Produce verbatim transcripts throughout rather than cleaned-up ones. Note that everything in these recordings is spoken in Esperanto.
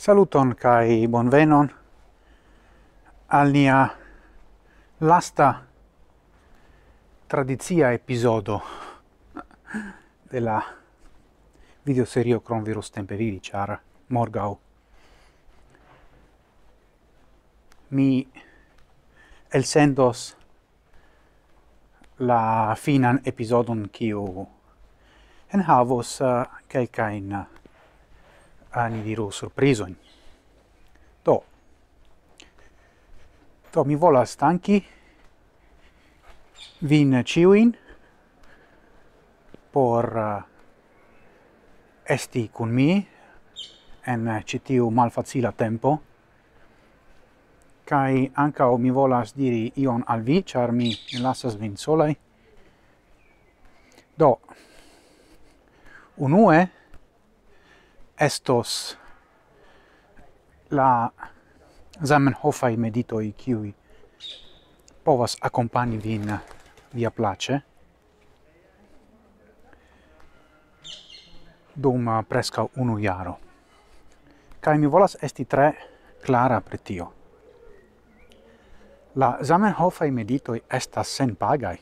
Saluton kaj bonvenon al nia lasta tradicia epizodo de la videoserio Krom virus tempe vivi, ĉar morgaŭ mi elsendos la finan epizodon, kiu enhavos, eh, kelkajn, eh, ni diru, surprizojn. Do, do mi volas danki vin ĉiujn por, eh, esti kun mi en ĉi tiu malfacila tempo. Kaj ankaŭ mi volas diri ion al vi, ĉar mi ne lasas vin solaj. Do, unue estos la Zamenhofaj meditoj, kiuj povas akompani vin viaplaĉe dum, eh, preskaŭ unu jaro. Kaj mi volas esti tre klara pri tio. La Zamenhofaj meditoj estas senpagaj.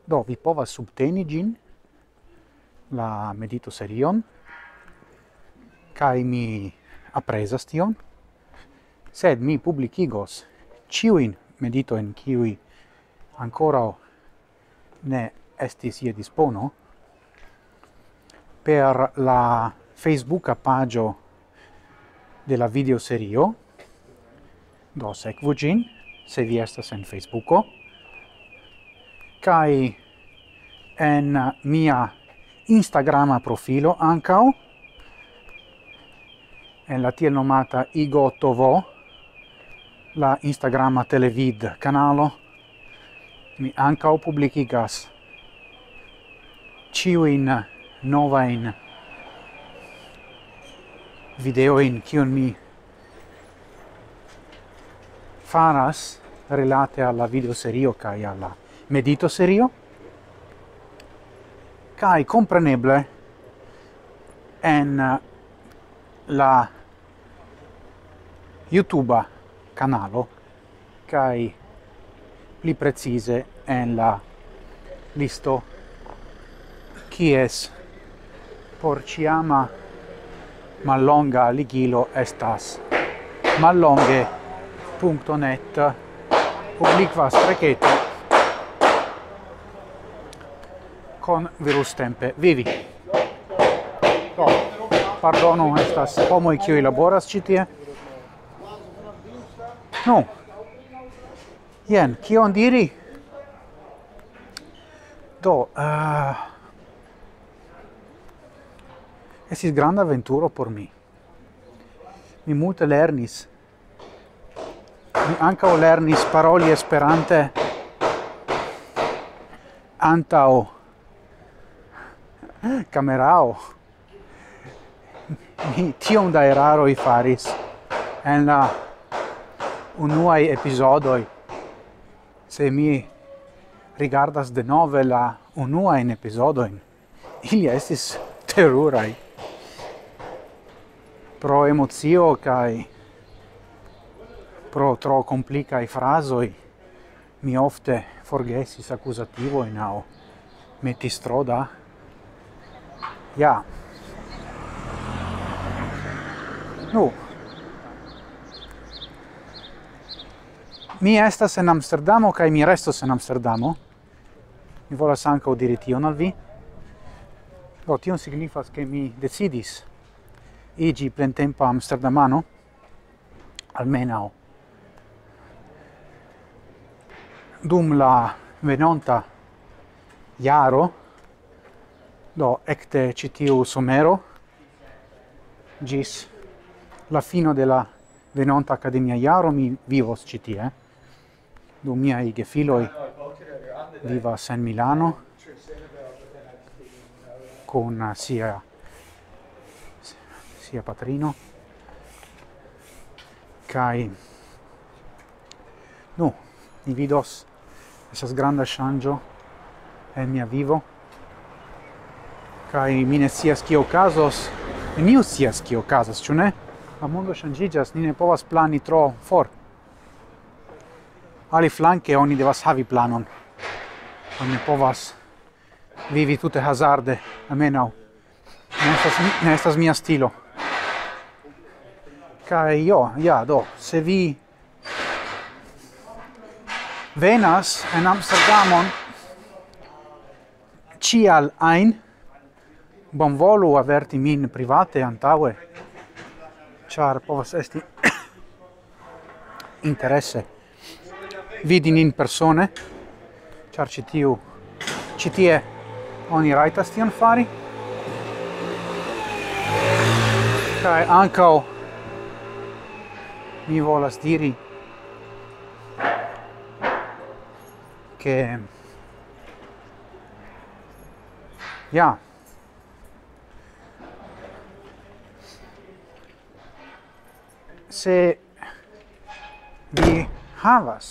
Do, vi povas subteni ĝin, la meditoserion, kaj mi aprezas tion, sed mi publikigos ĉiujn meditojn, kiuj ankoraŭ ne estis je dispono, per la Facebooka paĝo de la videoserio. Do, sekvu ĝin, se vi estas en Facebooko. Kaj en mia Instagrama profilo ankaŭ, en la tiel nomata Igo T V, la Instagrama televid kanalo, mi ankaŭ publikigas ĉiujn novajn videojn, kiun mi faras relate al la videoserio kaj al la meditoserio. Kaj kompreneble en la YouTube kanalo, kaj pli precize en la listo, kies por ĉiama mallonga ligilo estas mallonge.net oblikva streketo con virus tempe vivi. Do, pardonu, estas homoj, kiuj laboras ĉi tie. Nu, jen, kion diri? Do, eh, estis granda aventuro por mi. Mi multe lernis. Mi ankaŭ lernis paroli Esperante antaŭ kamerao. Mi tiom da eraroj faris en la unuaj epizodoj. Se mi rigardas denove la unuajn epizodojn, ili estis teruraj. Pro emocio kaj pro tro komplikaj frazoj mi ofte forgesis akuzativojn aŭ metis tro da. Ja. Nu. Mi estas en Amsterdamo kaj mi restos en Amsterdamo. Mi volas ankaŭ diri tion al vi. Do, tion signifas, ke mi decidis iĝi plentempa amsterdamano, almenaŭ dum la venonta jaro. Do, ekde ĉi tiu somero ĝis la fino de la venonta akademia jaro mi vivos ĉi tie. Do, miaj gefiloj vivas en Milano kun sia, sia patrino. Kaj, nu, ni vidos, estas granda ŝanĝo en mia vivo. Kaj mi ne scias, kio okazos, Neniu scias, kio okazas, ĉu ne? La mondo ŝanĝiĝas, ni ne povas plani tro for. Aliflanke, oni devas havi planon. Oni ne povas vivi tute hazarde, almenaŭ. Ne estas, ne estas mia stilo. Kaj jo, ja, do, se vi venas en Amsterdamon, ĉial ajn, bonvolu averti min private antaŭe, ĉar povas esti interese vidi nin persone, ĉar ĉi tiu, ĉi tie oni rajtas tion fari. Kaj ankaŭ mi volas diri, ke, ja, se vi havas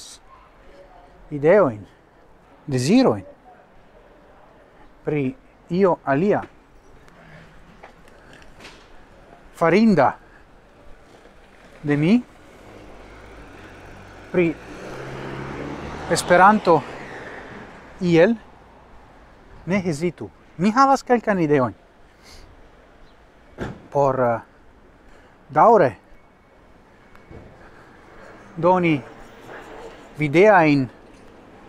ideojn, dezirojn pri io alia farinda de mi, pri Esperanto iel, ne hezitu. Mi havas kelkajn ideojn por, eh, daŭre doni videajn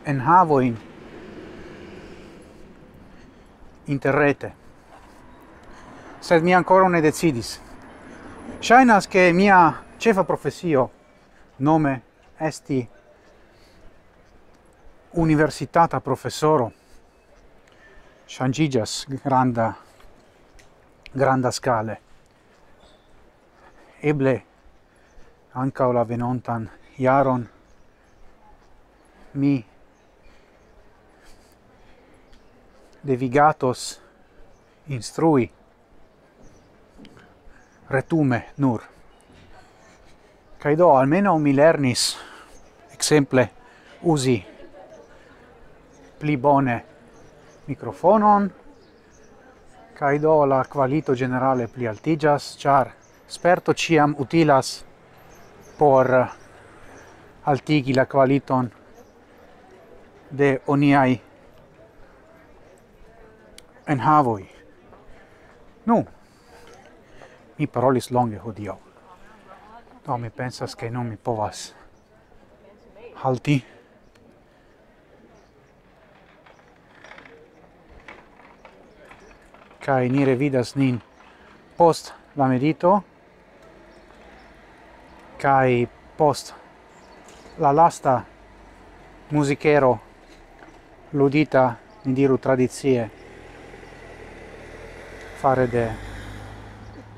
enhavojn interrete. Sed mi ankoraŭ ne decidis. Ŝajnas, ke mia ĉefa profesio nome esti universitata profesoro ŝanĝiĝas granda, granda skale. Eble ankaŭ la venontan jaron mi devigatos instrui retume nur. Kaj do, almenaŭ mi lernis, ekzemple, uzi pli bone mikrofonon, kaj do la kvalito ĝenerale pli altiĝas, ĉar sperto ĉiam utilas por altigi la kvaliton de oniaj enhavoj. Nu, mi parolis longe hodiaŭ. Do, mi pensas, ke nun mi povas halti. Kaj ni revidas nin post la medito, kaj post la lasta muzikero ludita, ni diru tradicie, fare de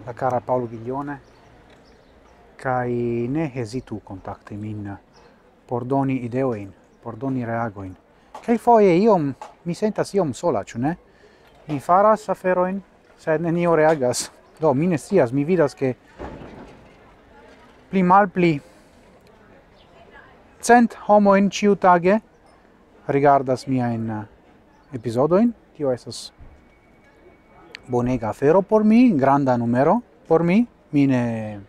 la kara Paolo Ghiglione, kaj ne hezitu kontakti min por doni ideojn, por doni reagojn. Kelkfoje iom, mi sentas iom sola, ĉu ne? Mi faras aferojn, sed nenio reagas. Do, mi ne scias, mi vidas, ke pli malpli cent homojn ĉiutage rigardas miajn, eh, epizodojn. Tio estas bonega afero por mi, granda numero por mi. Mi ne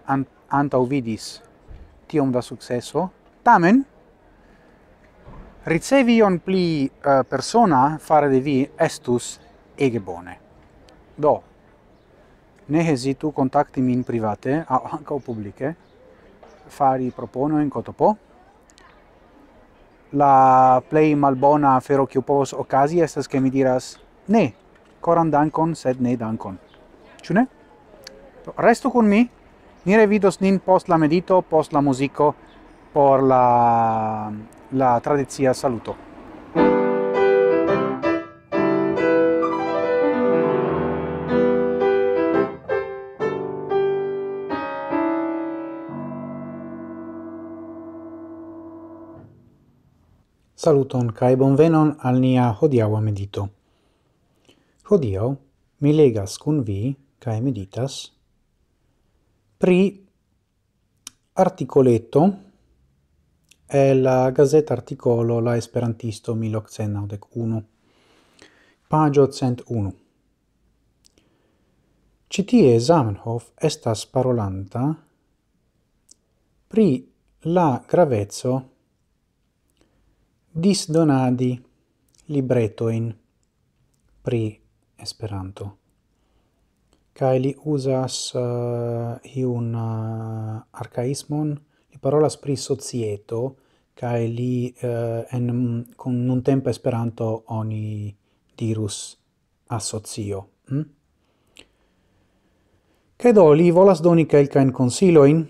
an-, antaŭvidis tiom da sukceso. Tamen, ricevi ion pli, eh, persona fare de vi estus ege bone. Do, ne hezitu kontakti min private aŭ ankaŭ publike, fari proponojn, K T P. La plej malbona afero, kiu povas okazi, estas, ke mi diras: "Ne, koran dankon, sed ne dankon." Ĉu ne? Do, restu kun mi, ni revidos nin post la medito, post la muziko, por la, la tradicia saluto. Saluton kaj bonvenon al nia hodiaŭa medito. Hodiaŭ mi legas kun vi kaj meditas pri artikoleto el la gazeta artikolo La Esperantisto mil okcent naŭdek unu, paĝo cent unu. Ĉi tie Zamenhof estas parolanta pri la graveco disdonadi libretojn pri Esperanto. Kaj li uzas, eh, iun, eh, arkaismon, li parolas pri societo, kaj li, eh, en, kun nuntempa Esperanto oni dirus asocio. Hm? Kaj do, li volas doni kelkajn konsilojn,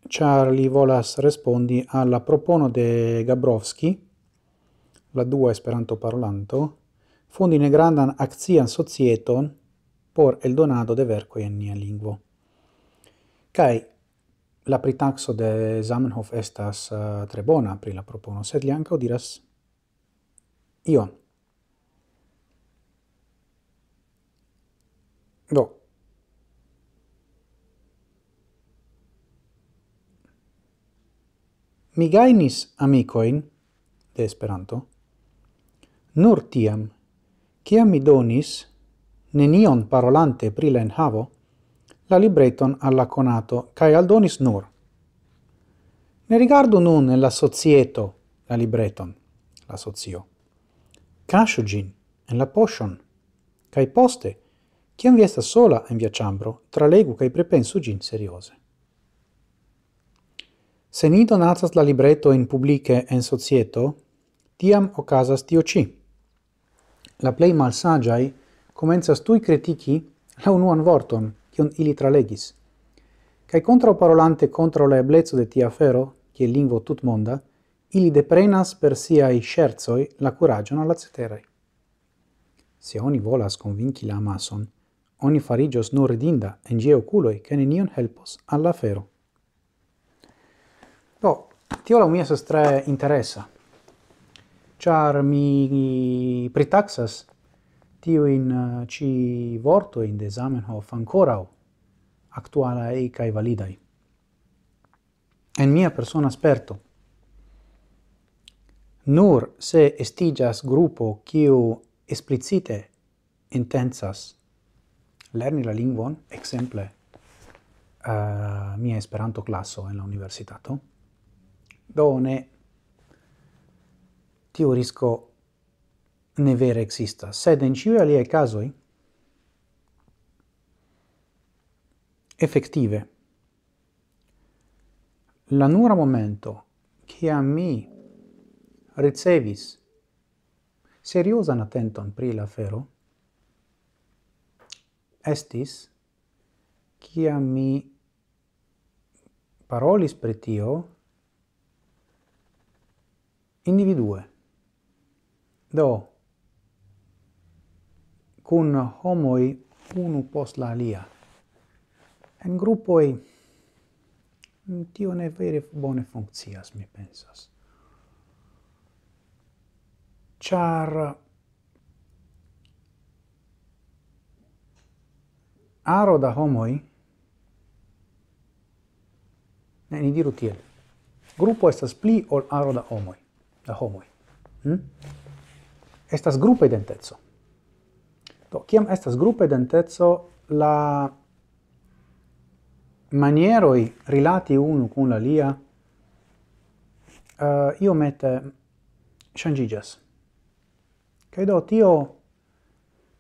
ĉar li volas respondi al la propono de Gabrovski, la dua Esperanto-parolanto, fondi negrandan akcian societon por eldonado de verkoj en nia lingvo. Kaj la pritakso de Zamenhof estas, eh, tre bona pri la propono, sed li ankaŭ diras ion. Do. Mi gajnis amikojn de Esperanto nur tiam, kiam mi donis, nenion parolante pri la enhavo, la libreton al la konato, kaj aldonis nur: Ne rigardu nun en la societo la libreton, la socio. Kaŝu ĝin en la poŝon, kaj poste, kiam vi estas sola en via ĉambro, tralegu kaj pripensu ĝin serioze. Se ni donacas la libretojn publike en societo, tiam okazas tio ĉi. La plej malsaĝaj komencas tuj kritiki la unuan vorton, kiun ili tralegis. Kaj kontraŭparolante kontraŭ la ebleco de tia afero, kiel lingvo tutmonda, ili deprenas per siaj ŝercoj la kuraĝon al la ceteraj. Se oni volas konvinki la amason, oni fariĝos nur ridinda en ĝiaj okuloj, ke nenion helpos al la afero. Do, tio laŭ mi estas tre interesa, ĉar mi pritaksas tiujn, eh, ĉi vortojn de Zamenhof ankoraŭ aktualaj kaj validaj. En mia persona sperto, nur se estiĝas grupo, kiu eksplicite intencas lerni la lingvon, ekzemple, eh, mia Esperanto-klaso en la universitato, do ne, tiu risko ne vere ekzistas. Sed en ĉiuj aliaj kazoj, efektive, la nura momento, kiam mi ricevis seriozan atenton pri la afero, estis, kiam mi parolis pri tio individue. Do, kun homoj unu post la alia. En grupoj, mm, tio ne vere bone funkcias, mi pensas. Ĉar aro da homoj, ne, ni diru tiel, grupo estas pli ol aro da homoj, da homoj. Hm? Estas grupa identeco. Do, kiam estas grupa identeco, la manieroj rilati unu kun la alia, eh, iomete ŝanĝiĝas. Kaj do tio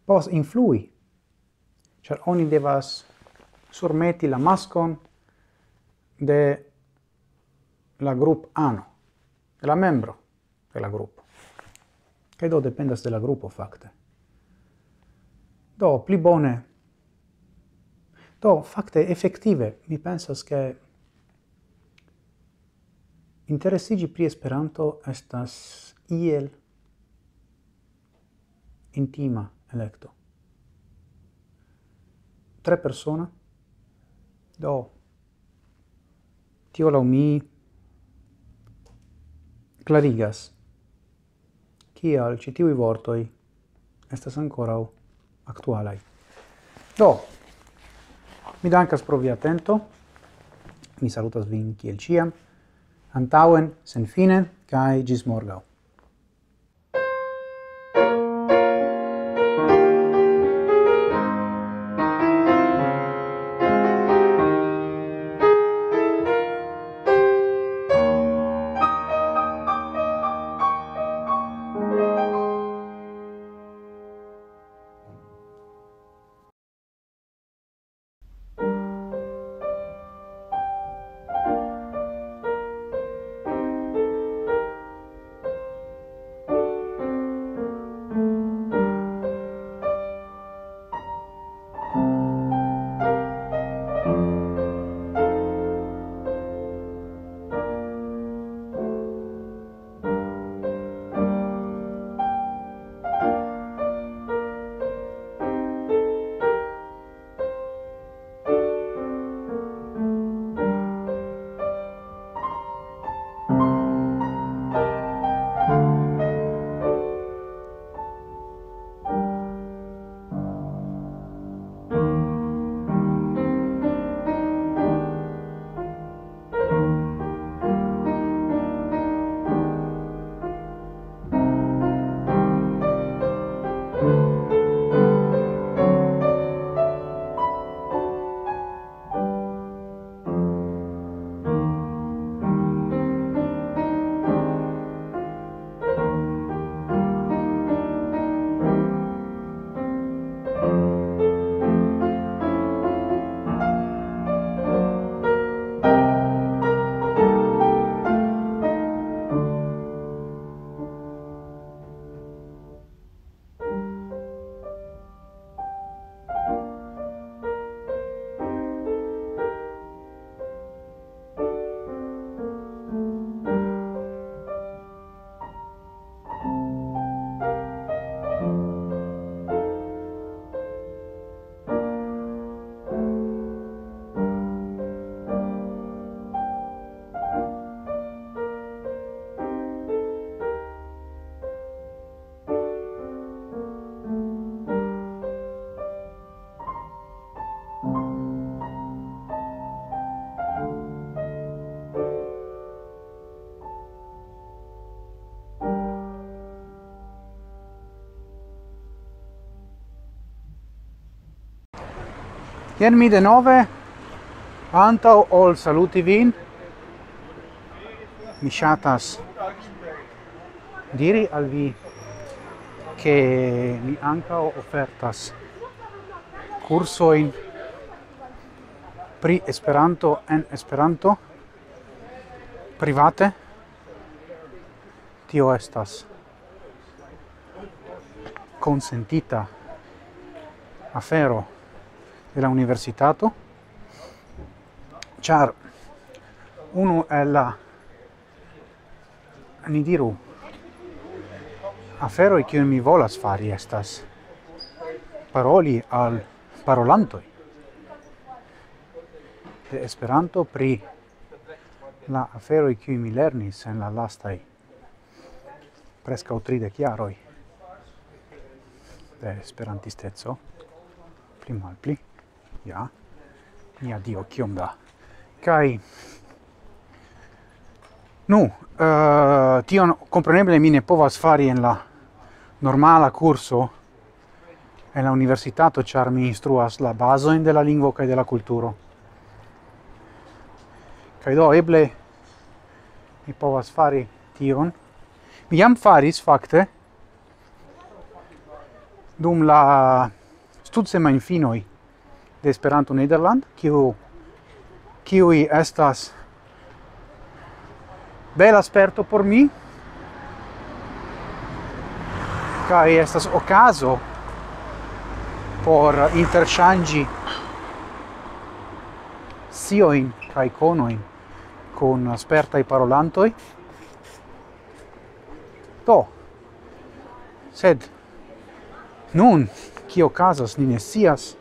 povas influi, ĉar oni devas surmeti la maskon de la grup ano, de la membro de la grupo. Kaj do dependas de la grupo, fakte. Do, pli bone. Do, fakte, efektive, mi pensas, ke interesiĝi pri Esperanto estas iel intima elekto. Tre persona. Do, tio laŭ mi klarigas, kial ĉi tiuj vortoj estas ankoraŭ aktualaj. Do, mi dankas pro via atento. Mi salutas vin kiel ĉiam. Antaŭen, senfine, kaj ĝis morgaŭ. Jen mi denove, antaŭ ol saluti vin, mi ŝatas diri al vi, ke mi ankaŭ ofertas kursojn pri Esperanto en Esperanto private. Tio estas konsentita afero de la universitato, ĉar unu el la, ni diru, aferoj, kiujn mi volas fari, estas paroli al parolantoj de Esperanto pri la aferoj, kiuj mi lernis en la lastaj preskaŭ tridek jaroj de esperantisteco, pli malpli. Ja, mia Dio, kiom da. Kaj, nu, eh, tion kompreneble mi ne povas fari en la normala kurso en la universitato, ĉar mi instruas la bazojn de la lingvo kaj de la kulturo. Kaj do eble mi povas fari tion. Mi jam faris fakte dum la studsemajnfinoj de Esperanto Nederland, kiu, kiuj estas bela sperto por mi, kaj estas okazo por interŝanĝi sciojn kaj konojn kun spertaj parolantoj. Do, sed nun, kio okazas, ni ne scias,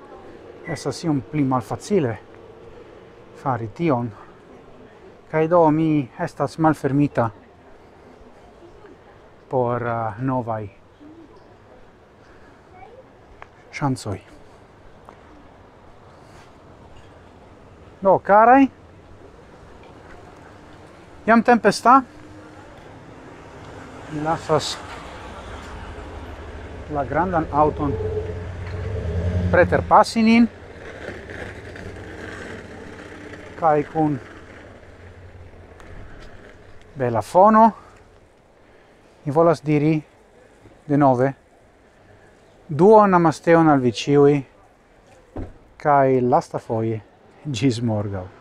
estas iom pli malfacile fari tion. Kaj do mi estas malfermita por, eh, novaj ŝancoj. Do, karaj, jam tempesta. Mi lasas la grandan aŭton preterpasi nin. Kaj kun bela fono, mi volas diri denove duon namasteon al vi ĉiuj, kaj lastafoje ĝis morgaŭ.